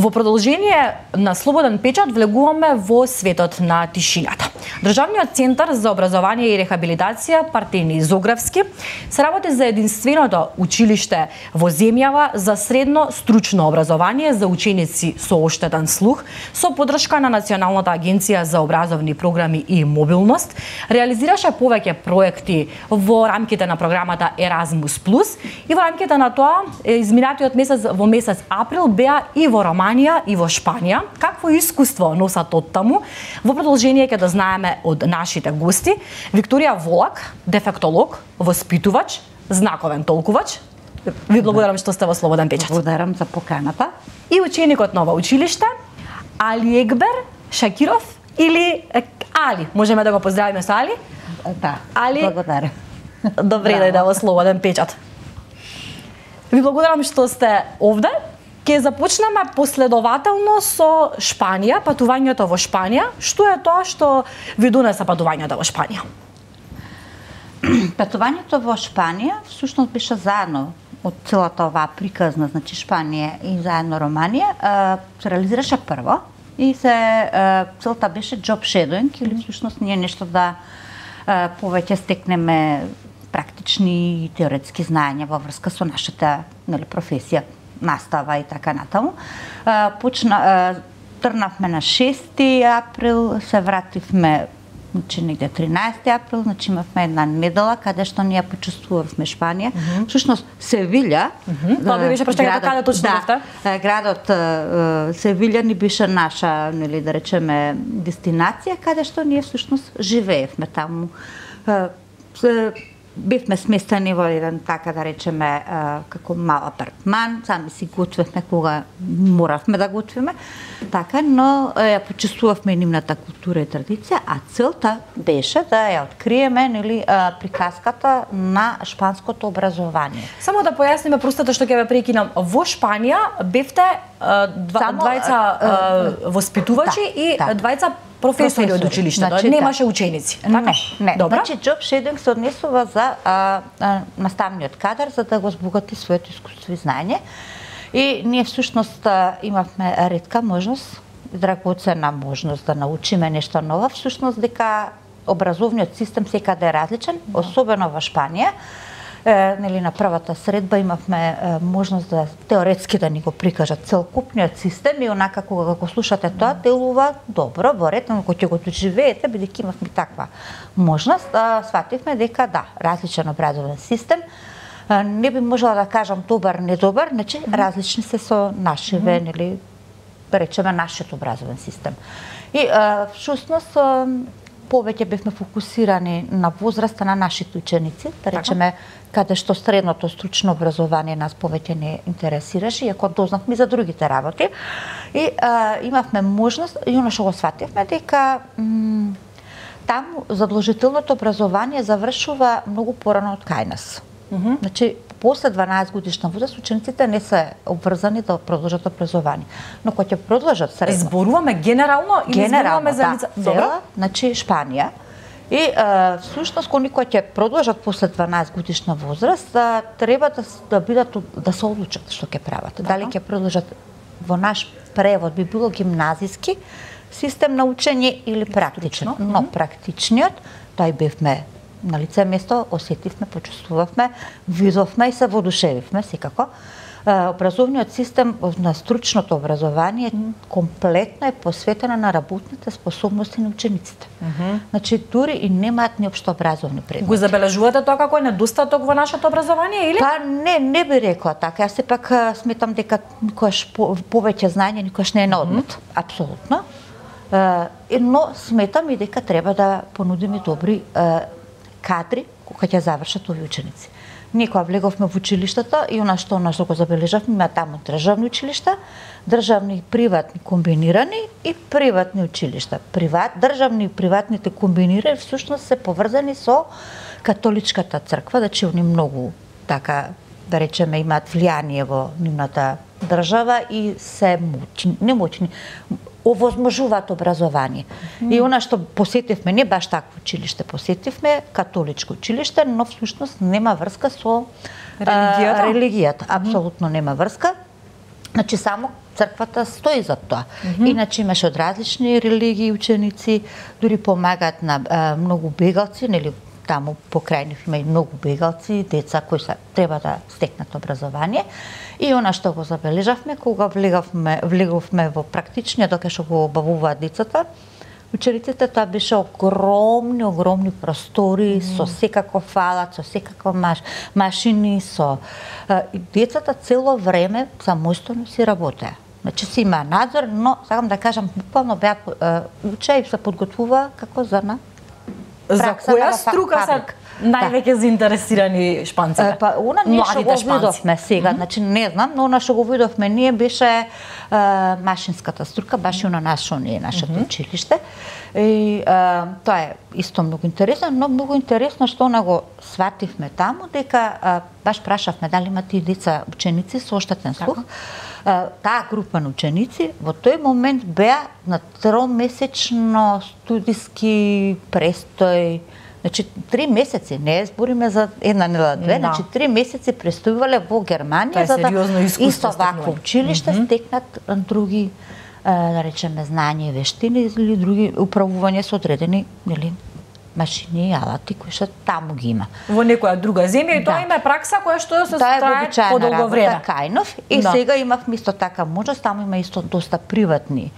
Во продолжение на Слободен печат влегуваме во светот на тишината. Државниот центар за образование и рехабилитација Партени Зографски се работи за единственото училиште во земјава за средно стручно образование за ученици со оштетен слух, со поддршка на Националната агенција за образовни програми и мобилност. Реализираше повеќе проекти во рамките на програмата Еразмус Плюс и во рамките на тоа изминатиот месец во месец април беа и во Романија и во Шпанија. Какво искуство носат од таму? Во продолжение ќе да знаеме од нашите гости. Викторија Волак, дефектолог, воспитувач, знаковен толкувач. Ви благодарам што сте во Слободен печат. Благодарам за поканата. И ученикот на ова училиште, Али Екбер Шакиров или Али. Можеме да го поздравиме со Али? Да, Али, благодарам. Добре дојде во Слободен печат. Ви благодарам што сте овде. Ке започнеме последователно со Шпанија, патувањето во Шпанија. Што е тоа што ви донесе патувањето во Шпанија? Патувањето во Шпанија всушност беше заедно од целата оваа приказна, значи Шпанија и заедно Романија, се реализираше прво и целта беше job shadowing или всушност ние нешто да повеќе стекнеме практични и теоретски знаења во врска со нашата професија, настава и така натаму. Трнавме на 6 април, се вративме негде 13 април, значи имавме една недела каде што ние почувствувавме Шпанија. Всушност Севилја, Тоа би беше проштегата каде точно бевте? Градот Севилја ни беше наша, нели да речеме, дестинација каде што ние всушност живеевме таму. Бевме сместени во еден, така да речеме, како мал апартман, сами си готвевме кога моравме да готвиме, така, но ја почувствувавме нивната култура и традиција, а целта беше да ја откриеме, нели, приказката на шпанското образование. Само да појасниме простото што ќе ве прекинам. Во Шпанија бевте двајца воспитувачи и двајца професори од училиштето, значи, немаше ученици, така? Не. Добра. Значи, job shadowing се однесува за наставниот кадар, за да го збогати своето искуство и знаење. И ние всушност имавме ретка можност, драгоцена можност да научиме нешто ново, всушност дека образовниот систем секаде е различен, особено во Шпанија. Нели на првата средба имавме можност да теоретски да ни го прикажат целокупниот систем и онака кога го слушате тоа делува добро, во ред, но кога ќе го доживеете, бидејќи имавме таква можност, свативме дека да, различен образовен систем. Не би можела да кажам добар, недобар, значи различни се со нашиве, нели да речеме нашиот образовен систем. И всушност повеќе бевме фокусирани на возраста на нашите ученици, да речеме каде што средното стручно образование нас повеќе не интересираше, иако дознавме за другите работи. И имавме можност, и оно што го свативме, дека таму задолжителното образование завршува многу порано од кај нас. Значи, после 12 годишна возраст учениците не се обврзани да продолжат образование. Но кога ќе продолжат средно. Зборуваме генерално или зборуваме за лица? Добро, значи Шпанија. И всушност кога ќе продолжат после 12 годишна возраст, треба да бидат да се одлучат што ќе прават. Дали ќе продолжат во наш превод би било гимназиски систем на учење или практичен. Но практичниот, тој бевме на лице место, осетивме, почувствувавме, видовме и се воодушевивме секако. Образовниот систем на стручното образование комплетно е посветена на работните способности на учениците. Значи, дури и немаат ни општообразовни предмети. Го забележувате тоа како недостаток во нашето образование или? Па не би рекла така. Јас сепак сметам дека никогаш повеќе знаење никогаш не е на одмет. Апсолутно. Но сметам и дека треба да понудиме добри кадри кога ќе завршат овие ученици. Ние кога влеговме во училиштата и она што го забележавме, има таму државни училишта, државни и приватни комбинирани и приватни училишта. Државни и приватните комбинирани всушност се поврзани со католичката црква, значи они многу така да речеме имаат влијание во нивната држава и се моćни, овозможуваат образование. И она што посетивме, не баш такво училиште посетивме, католичко училиште, но всушност нема врска со религијата. Апсолутно нема врска. Значи само црквата стои за тоа. Иначе имаше од различни религии ученици, дури помагаат на многу бегалци, нели таму покрај нив има и многу бегалци, деца кои треба да стекнат образование. И она што го забележавме кога влеговме во практичниот докато што го обавуваат децата, учениците, тоа беше огромни простори со секаков алат, со секаков машини, со децата цело време самостојно си работеа. Значи си има надзор, но сакам да кажам буквално беа учеа и се подготвува како за на за која струка се највеќе заинтересирани шпанците? Па она ние што го видовме сега, значи не знам, но она што го видовме ние беше машинската струка, баш и на нашето училиште. И тоа е исто многу интересно, но многу интересно што она го свативме таму, дека баш прашавме дали имате и деца ученици со оштетен слух. Таа група на ученици во тој момент беа на 3-месечно студиски престој. Значи 3 месеци, не збориме за една недела, две, значи 3 месеци престојувале во Германија за да исто вакво училиште стекнат други да речеме знања и вештини или други управување со одредени, нели, машини и алати кои што таму ги има. Во некоја друга земја и тоа има пракса која што се трае подолго време. Кајнов и сега имавме исто така можност, таму има исто доста приватни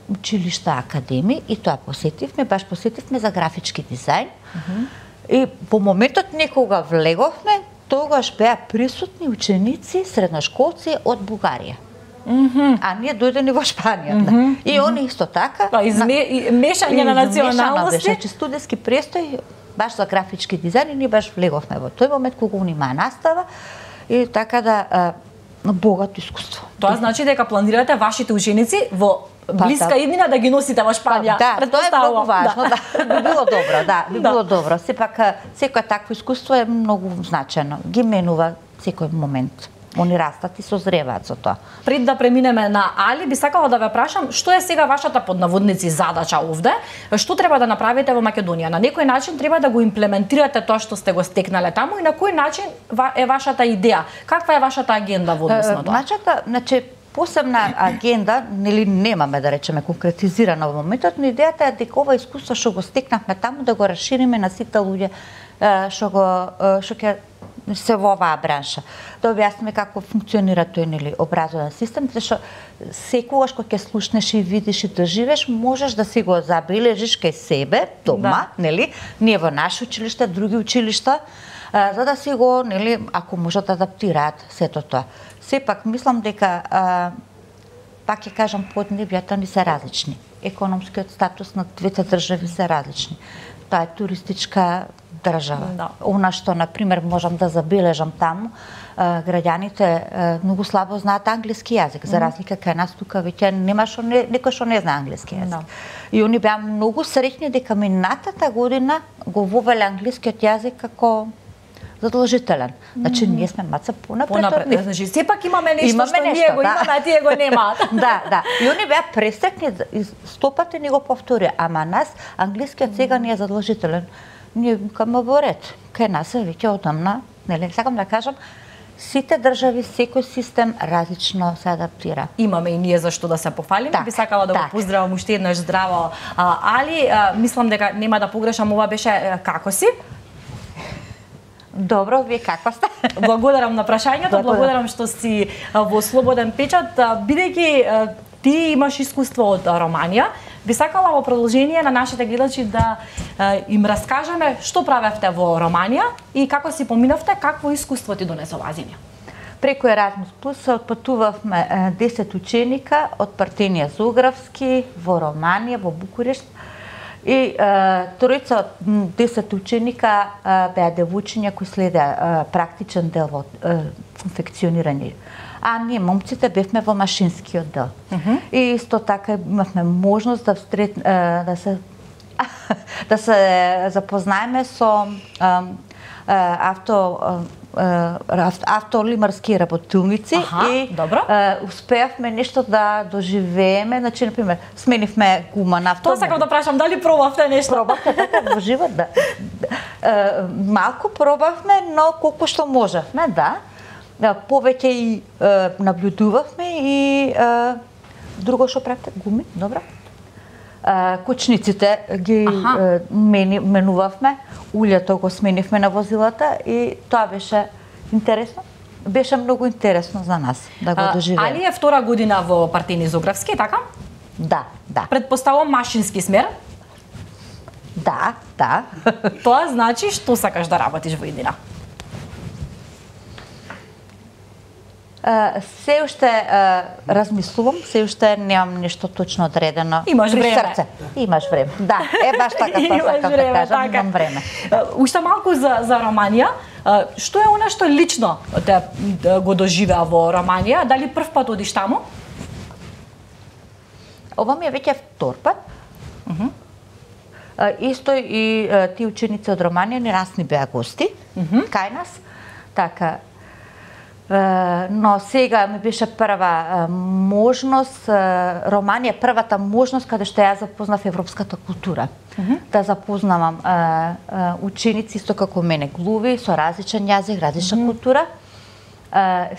училишта, академии и тоа посетивме за графички дизајн. И по моментот некога влеговме, тогаш беа присутни ученици, средношколци од Бугарија. А ние дојдени во Шпанија. И они исто така. Мешање на националности. Значи студентски престој баш за графички дизајн и ние баш влеговме во тој момент кога они имаа настава и така да богато искуство. Тоа значи дека планирате вашите ученици во блиска иднина да ги носите во Шпанија. Да, тоа е многу важно, би било добро, би било добро. Сепак секое такво искуство е многу значено. Ги менува секој момент. Они растат и созреваат со тоа. Пред да преминеме на Али, би сакала да ве прашам, што е сега вашата под наводници задача овде? Што треба да направите во Македонија? На некој начин треба да го имплементирате тоа што сте го стекнале таму и на кој начин е вашата идеја? Каква е вашата агенда во однос на тоа? Значи, посебна агенда, нели немаме да речеме конкретизирана во моментот, но идејата е дека ова искуство што го стекнавме таму да го расшириме на сите луѓе што ќе се во оваа бранша. Да објасниме како функционира тој нели образовен систем, зашто секогаш кога ќе слушнеш и видиш и доживеш, можеш да си го забележиш кај себе дома, нели? Ние во наше училиште, други училишта, за да си го, нели, ако можат да адаптираат сето тоа. Сепак мислам дека пак ќе кажам поднебјата ни се различни. Економскиот статус на двете држави се различни. Тоа е туристичка држава. Она што, например, можам да забележам таму, граѓаните многу слабо знаат англиски јазик, за разлика кај нас тука веќе нема некој што не знае англиски јазик. И они беа многу среќни дека минатата година го вовеле англискиот јазик како задолжителен. Значи ние сме маца понапред од нив. Значи сепак имаме нешто што ние го имаме, а тие го немаат. Да. И они беа пресрекни, стопати ни го повторија, ама нас англискиот сега не е задолжителен. Ние викаме во ред. Кај нас е веќе одамна, нели, сакам да кажам, сите држави, секој систем различно се адаптира. Имаме и ние зашто да се пофалиме. Би сакала да го поздравам уште еднаш здраво. Али, мислам дека нема да погрешам, ова беше како си? Добро, вие каква сте? Благодарам на прашањето, благодарам што си во Слободен печат, бидејќи ти имаш искуство од Романија. Би сакала во продолжение на нашите гледачи да им раскажеме што правевте во Романија и како си поминавте, какво искуство ти донесе оваа земја. Преку Еразмус Плюс се отпатувавме 10 ученика од Партенија Зографски во Романија, во Букурешт. И тројца од 10 ученика беа девојчиња кои следеа практичен дел во конфекционирање. А ние момците бевме во машинскиот дел. И исто така имавме можност да се запознаеме со автолимарски работилници и успеавме нешто да доживееме, значи например сменивме гума на автомобил. Тоа сакам да прашам, дали пробавте нешто? Пробавте така во живот, да. Малку пробавме, но колку што можевме, да. повеќе и наблюдувавме и друго што правите, гуми, добро. Кучниците ги менувавме, улјето го сменивме на возилата и тоа беше интересно. Беше многу интересно за нас да го доживееме. Али е втора година во партијни Зографски, така? Да. Предпоставувам машински смер? Да. Тоа значи што сакаш да работиш во иднина? Се уште размислувам, се уште немам нешто точно одредено. Имаш при време. Срце. Имаш време. Да, баш така сакам да кажам, имам време. Уште малку за Романија. Што е она што лично те го доживеа во Романија? Дали прв пат одиш таму? Ова ми е веќе втор пат. Исто и ти ученици од Романија ни раз ни беа гости кај нас. Така. Но сега ми беше прва можност, Романија првата можност каде што ја запознав европската култура. Да запознавам ученици исто како мене, глуви, со различен јазик, различна култура.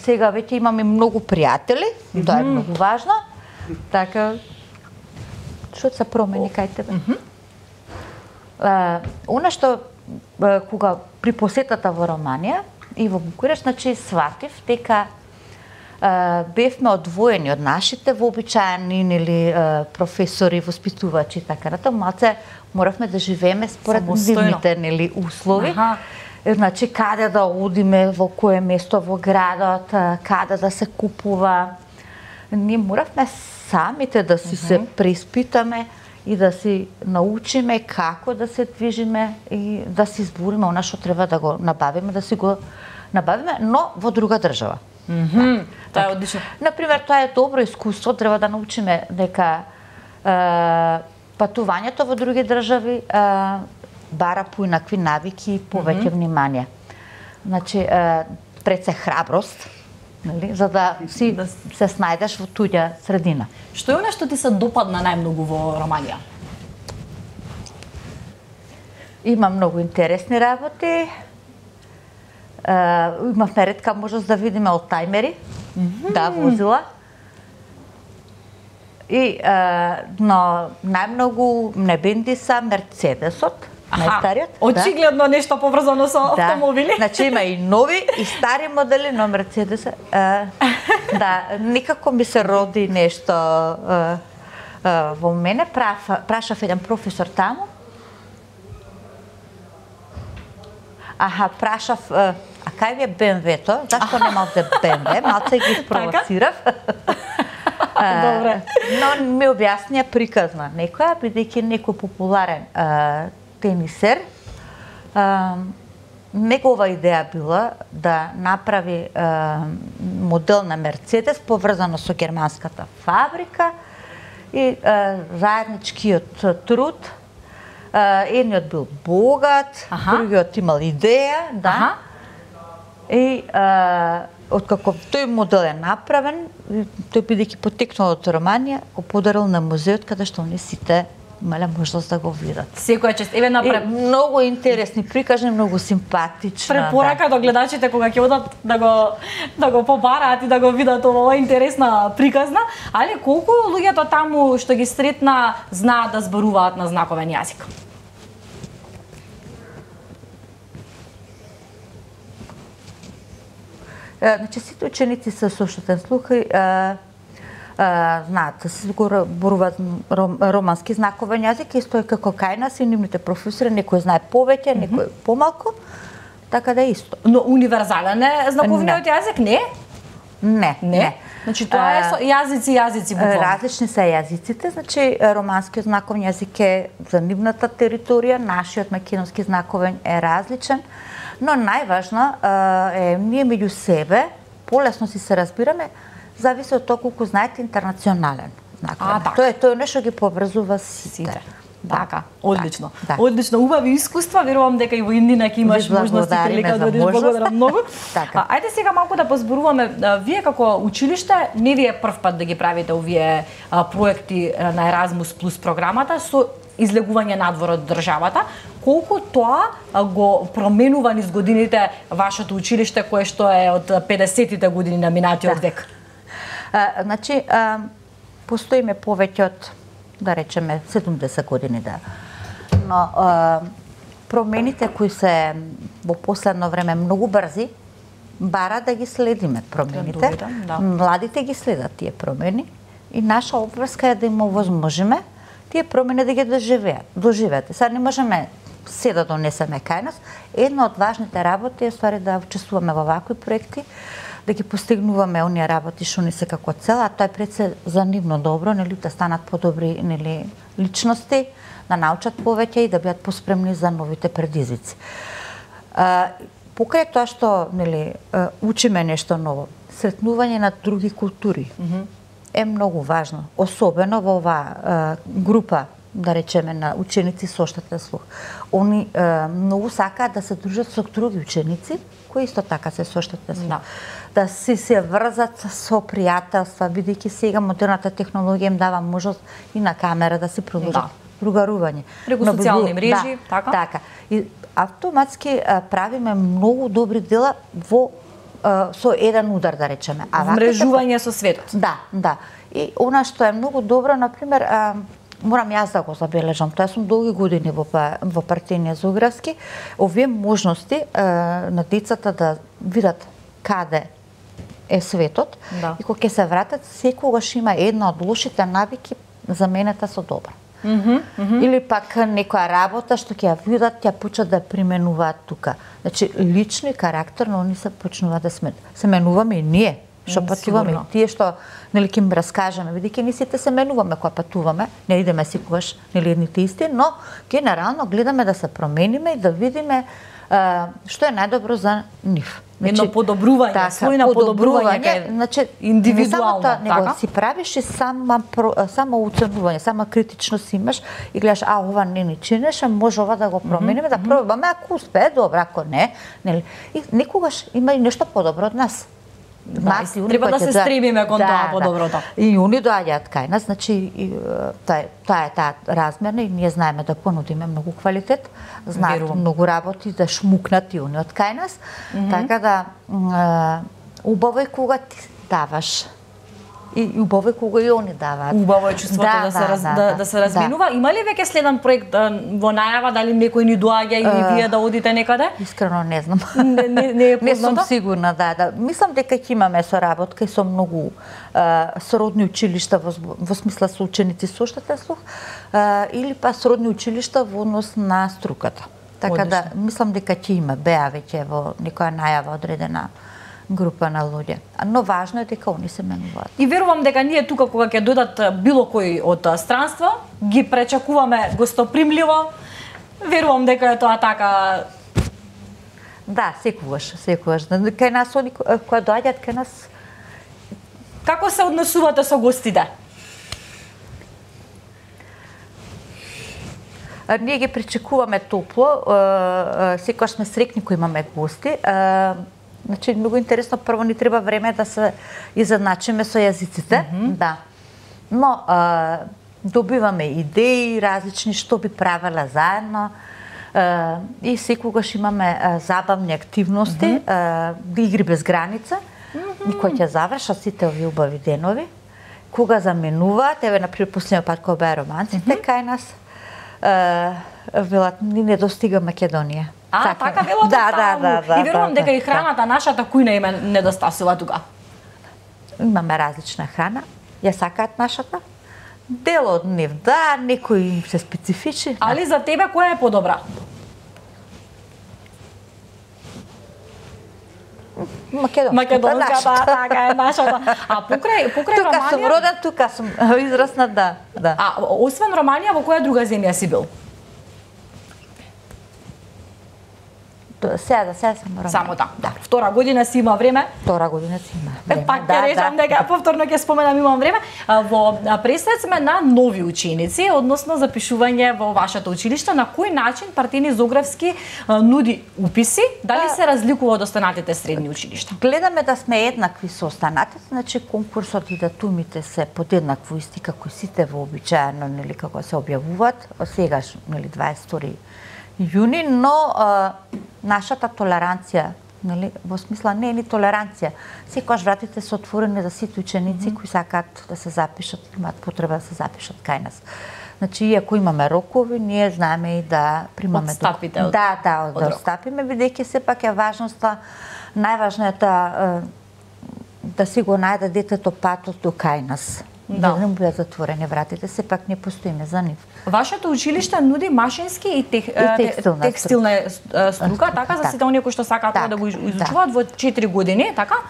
Сега веќе имаме многу пријатели, тоа е многу важно. Така, што се промени кај тебе? Она што кога при посетата во Романија и во Букуреш, значи сватив дека бевме одвоени од нашите вообичаени или професори, воспитувачи и така натаму, малце моравме да живееме според нивните нели услови. Значи каде да одиме, во кое место во градот, каде да се купува. Ние моравме самите да си се преиспитаме и да си научиме како да се движиме и да си избориме она што треба да го набавиме, да си го набавиме, но во друга држава. Тоа е одлично. Например, тоа е добро искуство, треба да научиме дека патувањето во други држави бара поинакви навики и повеќе внимание. Значи, пред се храброст, нели, за да си се снајдеш во туѓа средина. Што е она што ти се допадна најмногу во Романија? Има многу интересни работи. Имавме ретка можност да видиме олтајмери, да, возила. И но најмногу не бенди са Мерцедесот, најстариот. Очигледно нешто поврзано со автомобили. Значи има и нови и стари модели, но Мерцедес да, никако ми се роди нешто во мене. Прашав еден професор таму. Прашав, а кај ви е БМВ-то? Зашто немавте БМВ? Малце ги спровоцирав. Добре. Но ми објаснија приказна некоја, бидејќи некој популарен тенисер, негова идеја била да направи модел на Мерцедес поврзано со германската фабрика и заедничкиот труд. Едниот бил богат, другиот имал идеја, да. И откако тој модел е направен, тој бидејќи потекнал од Романија, го подарил на музеот каде што они сите имале можност да го видат. Секоја чест. Еве многу интересни прикажани, многу симпатично. Препорака до гледачите кога ќе одат да го побараат и да го видат ова интересна приказна, али колку луѓето таму што ги сретна знаат да зборуваат на знаковен јазик? Значи сите ученици со соштетен слух знаат, се зборуваат романски знаковен јазик, исто е како кај нас и нивните професори, некој знае повеќе, некој помалку, така да е исто. Но универзален е знаковниот јазик, не? Не. Значи тоа е со јазици буквално. Различни се јазиците, значи романскиот знаковен јазик е за нивната територија, нашиот македонски знаковен е различен, но најважно е ние меѓу себе полесно си се разбираме, зависи од тоа колку знаете интернационален знаковен. Тоа е нешто ги поврзува сите. Така, одлично. Одлично, убави искуства, верувам дека и во Индина ќе имаш можност и прилика да одиш. Благодарам многу. Ајде сега малку да позборуваме, вие како училиште не ви е прв пат да ги правите овие проекти на Erasmus Plus програмата, со излегување надвор од државата, колку тоа го променува низ годините вашето училиште кое што е од 50-тите години на минатиот век? Значи, постоиме повеќе од, да речеме, 70 години, да. Но промените кои се во последно време многу брзи, бара да ги следиме промените. Да. Младите ги следат тие промени и наша обврска е да им овозможиме тие промени да ги доживеат. Сега не можеме се да донесеме кај нас. Една од важните работи е ствари да учествуваме во вакви проекти, да ги постигнуваме оние работи што ни се како цел, а тоа е пред се за нивно добро, нели, да станат подобри, нели, личности, да научат повеќе и да бидат поспремни за новите предизвици. Покрај тоа што, нели, учиме нешто ново, сретнување на други култури е многу важно, особено во оваа група, да речеме, на ученици со оштетен слух. Они многу сакаат да се дружат со други ученици кои исто така се со оштетен слух. Да си се врзат со пријателства, бидејќи сега модерната технологија им дава можност и на камера да се продолжат другарување. Преку социјални мрежи, така? Така. И автоматски правиме многу добри дела во со еден удар, да речеме. Вмрежување со светот. Да. И она што е многу добро, например, морам јас да го забележам, тоа сум долги години во партијниот Зографски, овие можности на децата да видат каде е светот и кога ќе се вратат, секогаш има една од лошите навики заменета со добра. Или пак некоја работа што ќе ја видат, ја почнат да применуваат тука. Значи, лично и карактерно они се почнуваат да се менуваме и ние, што патуваме, и тие што, нели, ќе им раскажеме, бидејќи ние сите се менуваме кога патуваме, не идеме секогаш, нели, едните исти, но генерално гледаме да се промениме и да видиме што е најдобро за нив. Едно подобрување, својна подобрување, значи, индивидуално, не само така? Него си правиш и само оценување, само критичност имаш и гледаш, ова не ни чинеше, може ова да го промениме, да пробаме, ако успее, добро, ако не, нели. И некогаш има и нешто подобро од нас. Треба да се стремиме кон тоа подоброто. И они доаѓаат кај нас, значи таа е таа размерна и ние знаеме да понудиме многу квалитет, знаат многу работи да шмукнат и они од кај нас, така да убаво е кога ти даваш. И убаво е кога и они даваат. Убаво е чувството да се разминува. Има ли веќе следен проект во најава, дали некој ни доаѓа или вие да одите некаде? Искрено не знам. Не е познато? Не сум сигурна, да. Мислам дека ќе имаме соработка и со многу сродни училишта во смисла со ученици со оштетен слух или па сродни училишта во однос на струката. Така да мислам дека ќе има, беа веќе во некоја најава одредена група на луѓе. Но важно е дека они се менуваат. И верувам дека ние тука кога ќе дојдат било кој од странство, ги пречекуваме гостопримливо. Верувам дека е тоа така. Да, секогаш. Кај нас они кога доаѓаат кај нас. Како се однесувате со гостите? Ние ги пречекуваме топло, секогаш сме срекни кога имаме гости. Значи, многу интересно, прво ни треба време да се изедначиме со јазиците, да. Но добиваме идеи различни што би правела заедно и секогаш имаме забавни активности, игри без граница, и кои ќе завршат сите овие убави денови, кога заменуваат, еве, например, последниот пат кога беа романците кај нас, велат, ни не достига Македонија. Така велат? Да. И верувам дека и храната нашата кујна има недостасува тука. Имаме различна храна, ја сакаат нашата. Дел од нив, да, некои им се специфични. Али за тебе која е подобра? Македонската, така е нашата. А покрај Романија... Тука сум роден, тука сум израснат, да. А освен Романија, во која друга земја си бил? Сега се морам. Само да. Втора година си има време. Втора година си има време. Пак ќе речам дека повторно ќе споменам имам време. Во преслед сме на нови ученици, односно запишување во вашето училиште. На кој начин Партини Зогревски нуди уписи? Дали се разликува од останатите средни училишта? Гледаме да сме еднакви со останатите, значи конкурсот и датумите се подеднакво исти како сите вообичаено, нели како се објавуваат. Сегаш, нели 22 јуни, но нашата толеранција, нели, во смисла не е ни толеранција. Секогаш вратите се отворени за сите ученици кои сакаат да се запишат, имаат потреба да се запишат кај нас. Значи, иако имаме рокови, ние знаеме и да примаме отстапите да отстапиме, бидејќи сепак е важноста, најважно е да си го најде детето патот до кај нас. Да не бидат затворени вратите, сепак не постоиме за нив. Вашето училиште нуди машински и текстилна струка, така за сите оние кои што сакаат да го изучуваат во 4 години, така?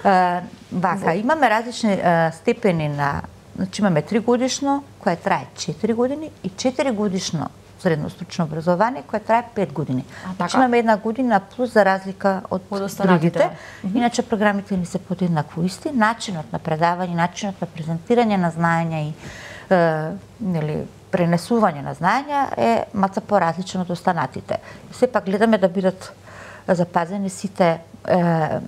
Вака, имаме различни степени на, значи имаме 3 годишно, кое трае 4 години и 4 годишно средно стручно образование, кое трае 5 години. Значи имаме 1 година плюс за разлика од другите. Иначе програмите ни се подеднакво исти, начинот на предавање, начинот на презентирање на знаења и нели пренесување на знаења е маца поразличен од останатите. Сепак гледаме да бидат запазени сите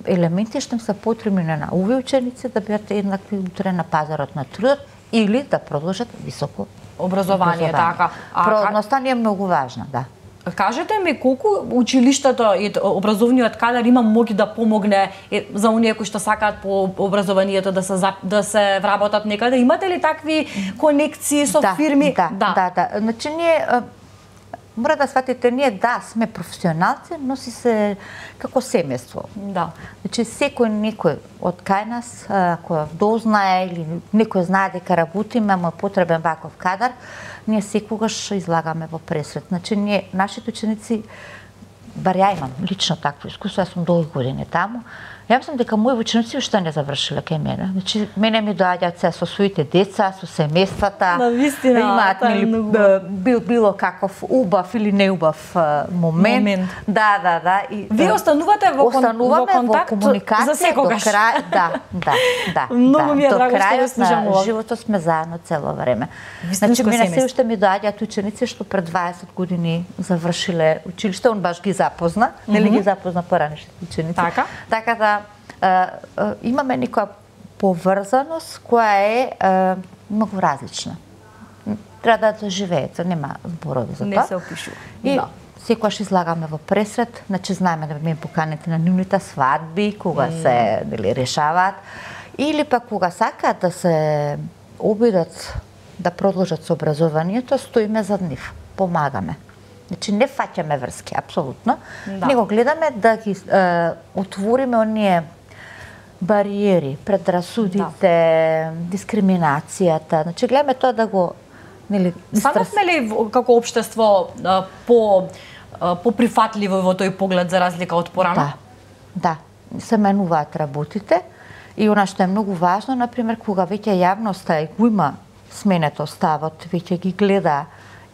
елементи што им се потребни на овие ученици да бидат еднакви утре на пазарот на трудот или да продолжат високо образование, така. Продноста ни е многу важна, да. Кажете ми колку училиштето и образовниот кадар има моги да помогне за оние кои што сакаат по образованието да се вработат некаде? Имате ли такви конекции со фирми? Да. Значи ние мора да сватите, ние сме професионалци, но си се како семејство. Да. Значи некој од кај нас, кој дознае или некој знае дека работиме, му е потребен ваков кадар, ние секогаш излагаме во пресред. Значи нашите ученици, бар ја имам лично такво искуство, јас сум долги години таму. Ја мислам дека мои ученици уште не завршиле кај мене. Значи мене ми доаѓаат се со своите деца, со семејствата. Навистина, имаат било каков убав или неубав момент. Да. И вие останувате во контакт комуникација за секогаш. До крај, да. Многу ми е драго што ве слушам. До животот сме заедно цело време. Значи мене се уште ми доаѓаат ученици што пред 20 години завршиле училиште, он баш ги запозна, нели ги запозна поранешните ученици. Така да имаме некоја поврзаност која е многу различна. Треба да живеете, нема зборови за тоа. Не се опишува. И секогаш излагаме во пресред, значи знаеме да ме поканите на нивните свадби, кога се решаваат, или пак кога сакаат да се обидат да продолжат со образованието, стоиме зад нив, помагаме. Значи не фаќаме врски, апсолутно. Него гледаме да ги отвориме оние бариери, предрасудите, дискриминацијата. Значи гледаме тоа да го станавме ли како општество поприфатливо во тој поглед за разлика од порано? Да. Се менуваат работите и она што е многу важно, например, кога веќе јавноста го има сменето ставот, веќе ги гледа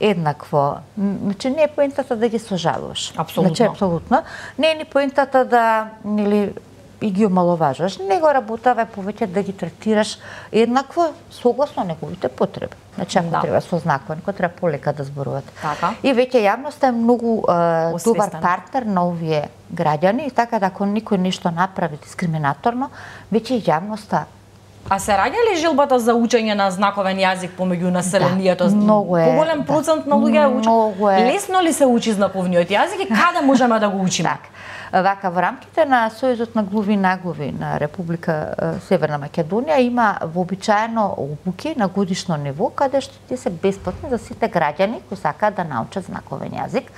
еднакво. Значи не е поентата да ги сожалуваш. Апсолутно. Не е ни поентата да и ги омаловажуваш, него работава повеќе да ги третираш еднакво согласно неговите потреби. Значи ако треба со знаковен, ако треба полека да зборуваат. И веќе јавноста е многу добар партнер на овие граѓани, и така да ако никој нешто направи дискриминаторно, веќе јавноста. А се раѓа ли жилбата за учење на знаковен јазик помеѓу населението? Многу е. Поголем процент на луѓе учат. Лесно ли се учи знаковниот јазик и каде можеме да го учиме? Вака, во рамките на Сојузот на глуви и наглуви на Република Северна Македонија има вообичаено обуки на годишно ниво, каде што тие се бесплатни за сите граѓани кои сакаат да научат знаковен јазик.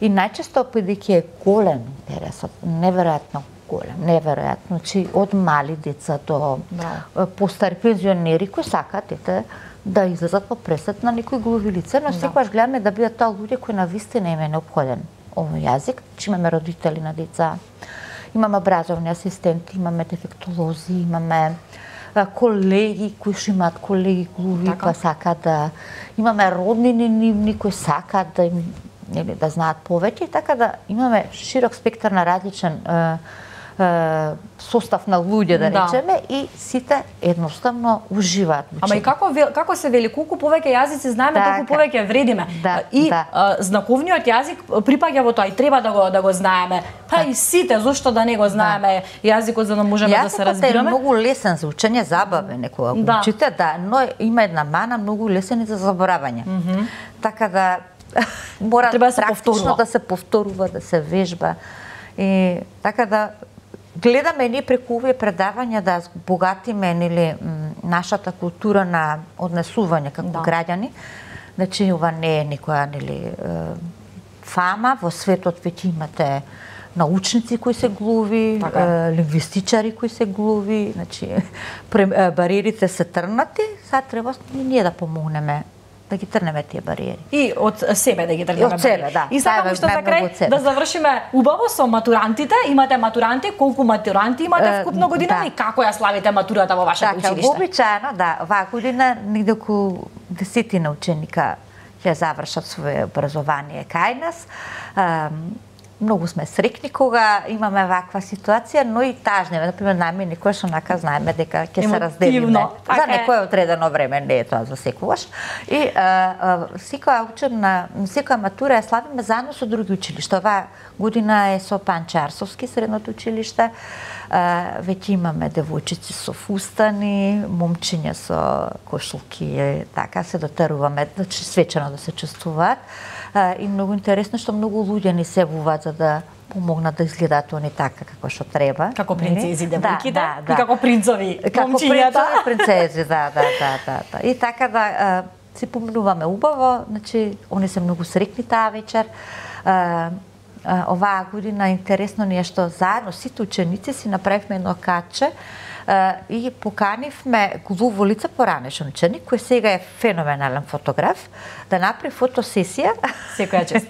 И најчесто бидејќи е голем интересот, неверојатно голем, неверојатно, значи од мали деца до постари пензионери кои сакаат да излезат во пресет на некои глуви лице, но секогаш гледаме да бидат тоа луѓе кои навистина им е неопходен овој јазик. Че имаме родители на деца, имаме образовни асистенти, имаме дефектолози, имаме колеги кои што имаат колеги глуви кои сакаат да имаме роднини нивни кои сакаат да им да знаат повеќе, така да имаме широк спектар на различен состав на луѓе, да речеме, и сите едноставно уживаат. Ама и како се вели, колку повеќе јазици знаеме, толку повеќе вредиме. И знаковниот јазик припаѓа во тоа и треба да го знаеме. Па и сите, зошто да не го знаеме јазикот за да можеме да се разбираме? Јазикот е многу лесен за учење, забавен е кога го учите, но има една мана, многу лесен и за заборавање. Така да мора практично да се повторува, да се вежба. И така да гледаме ние преку овие предавања да богатиме нашата култура на однесување како граѓани. Значи ова не е никоја фама, во светот веќе имате научници кои се глуви, лингвистичари кои се глуви, значи бариерите се трнати, сега треба ние да помогнеме да ги трнеме тие бариери. И од себе да ги трнеме. Од себе, да. И сакам уште за крај да завршиме убаво со матурантите. Имате матуранти, колку матуранти имате вкупно година и како ја славите матурата во вашето училиште? Така, вообичаено, да, оваа година негде околу 10 ученика ќе завршат свое образование кај нас. Многу сме срекни кога имаме ваква ситуација, но и тажни. Например, нами некојаш онака знаеме дека ќе се разделиме. За некој одредено време, не е тоа за секогаш. И секоја матура ја славиме заедно со други училишта. Оваа година е со Панче Арсовски средното училиште. Веќе имаме девојчици со фустани, момчиња со кошулки, така се дотеруваме, значи свечено да се чувствуваат. И многу интересно што многу луѓе ни се вуваат за да помогнат да изгледаат они така како што треба. Како принцези девојките и како принцови момчињата. Како принцези, да. И така да се поминуваме убаво, значи они се многу срекни таа вечер. Оваа година интересно ни е што заедно сите ученици си направивме едно каче и поканивме Глуво Лица поранешен ученик, кој сега е феноменален фотограф, да направи фотосесија. Секоја чест.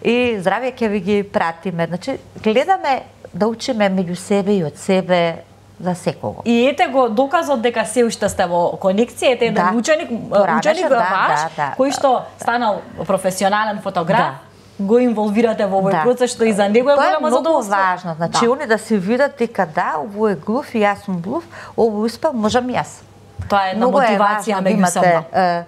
И здравје ќе ви ги пратиме. Значи, гледаме да учиме меѓу себе и од себе за секого. И ете го доказот дека се уште сте во конекција, ете еден ученик ваш, кој што станал професионален фотограф, го инволвирате во овој процес, што и за него е голямо задоволство. Тоа е многу важно. Значи, они да се видат дека ово е глув и јас сум глув, ово успел, можам јас. Тоа е една мотивација меѓусебно.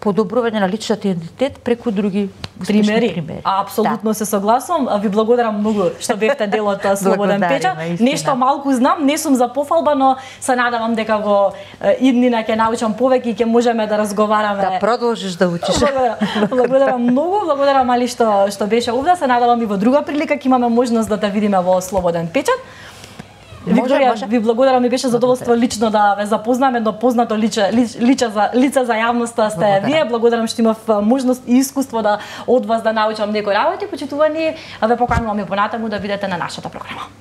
Подобрување на личниот идентитет преку други примери. Апсолутно се согласувам. Ви благодарам многу што бевте дел од Слободен печат. Нешто малку знам, не сум за пофалба, но се надевам дека во иднина ќе научам повеќе и ќе можеме да разговараме. Да продолжиш да учиш. Благодарам многу, благодарам Али што беше овде. Се надевам и во друга прилика ќе имаме можност да те видиме во Слободен печат. Викторија, ви благодарам, ми беше задоволство лично да ве запознам, едно познато лице за јавноста сте вие. Благодарам што имав можност и искуство да од вас да научам некои работи. Почитувани, ве поканувам и понатаму да видите на нашата програма.